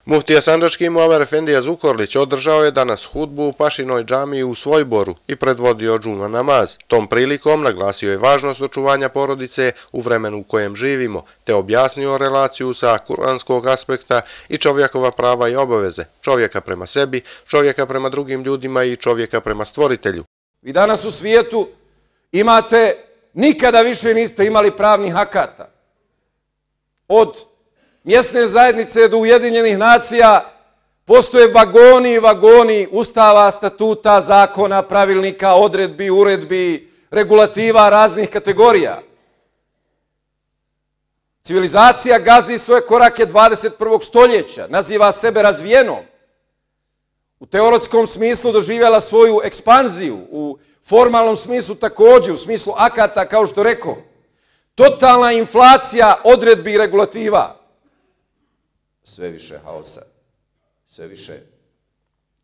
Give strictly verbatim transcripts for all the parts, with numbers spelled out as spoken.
Muftija sandžački Muamer Efendija Zukorlić održao je danas hudbu u Pašinoj džamiji u Svojboru i predvodio džuma namaz. Tom prilikom naglasio je važnost očuvanja porodice u vremenu u kojem živimo, te objasnio relaciju sa kuranskog aspekta i čovjekova prava i obaveze, čovjeka prema sebi, čovjeka prema drugim ljudima i čovjeka prema stvoritelju. Vi danas u svijetu imate, nikada više niste imali pravnih akata. Od mjesne zajednice do Ujedinjenih nacija postoje vagoni i vagoni ustava, statuta, zakona, pravilnika, odredbi, uredbi, regulativa raznih kategorija. Civilizacija gazi svoje korake dvadeset prvog stoljeća, naziva sebe razvijenom. U teoretskom smislu doživjela svoju ekspanziju, u formalnom smislu također, u smislu akata, kao što rekao. Totalna inflacija odredbi i regulativa. Sve više haosa, sve više,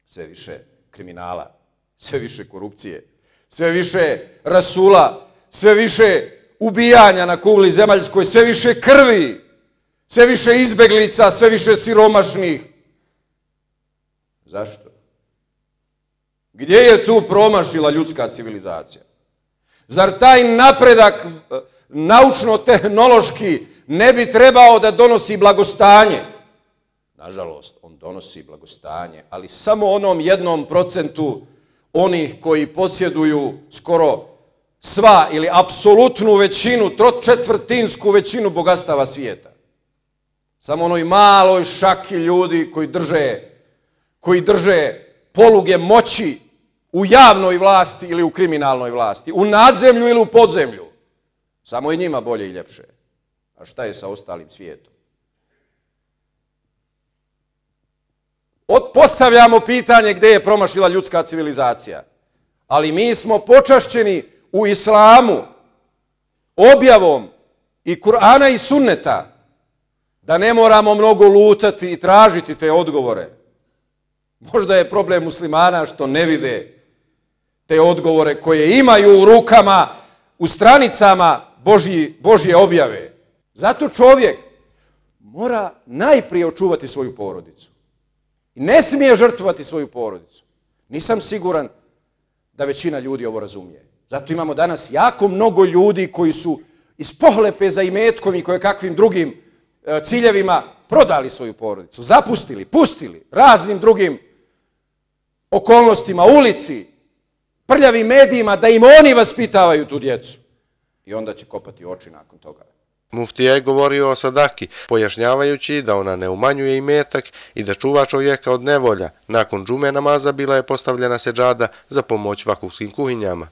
sve više kriminala, sve više korupcije, sve više rasula, sve više ubijanja na kugli zemaljskoj, sve više krvi, sve više izbeglica, sve više siromašnih. Zašto? Gdje je tu promašila ljudska civilizacija? Zar taj napredak naučno-tehnološki ne bi trebao da donosi blagostanje? Nažalost, on donosi blagostanje, ali samo onom jednom procentu onih koji posjeduju skoro sva ili apsolutnu većinu, tročetvrtinsku većinu bogatstava svijeta. Samo onoj maloj šaki ljudi koji drže, koji drže poluge moći u javnoj vlasti ili u kriminalnoj vlasti, u nadzemlju ili u podzemlju. Samo je njima bolje i ljepše. A šta je sa ostalim svijetom? Postavljamo pitanje gdje je promašila ljudska civilizacija. Ali mi smo počašćeni u islamu objavom i Kur'ana i sunneta da ne moramo mnogo lutati i tražiti te odgovore. Možda je problem muslimana što ne vide te odgovore koje imaju u rukama, u stranicama Božji, Božje objave. Zato čovjek mora najprije očuvati svoju porodicu. I ne smije žrtvovati svoju porodicu. Nisam siguran da većina ljudi ovo razumije. Zato imamo danas jako mnogo ljudi koji su iz pohlepe za imetkom i kojekakvim drugim ciljevima prodali svoju porodicu, zapustili, pustili raznim drugim okolnostima, ulici, prljavim medijima, da im oni vaspitavaju tu djecu. I onda će kopati oči nakon toga. Muftija je govorio o sadaki, pojašnjavajući da ona ne umanjuje imetak i da čuva čovjeka od nevolja. Nakon džume namaza bila je postavljena seđada za pomoć vakufskim kuhinjama.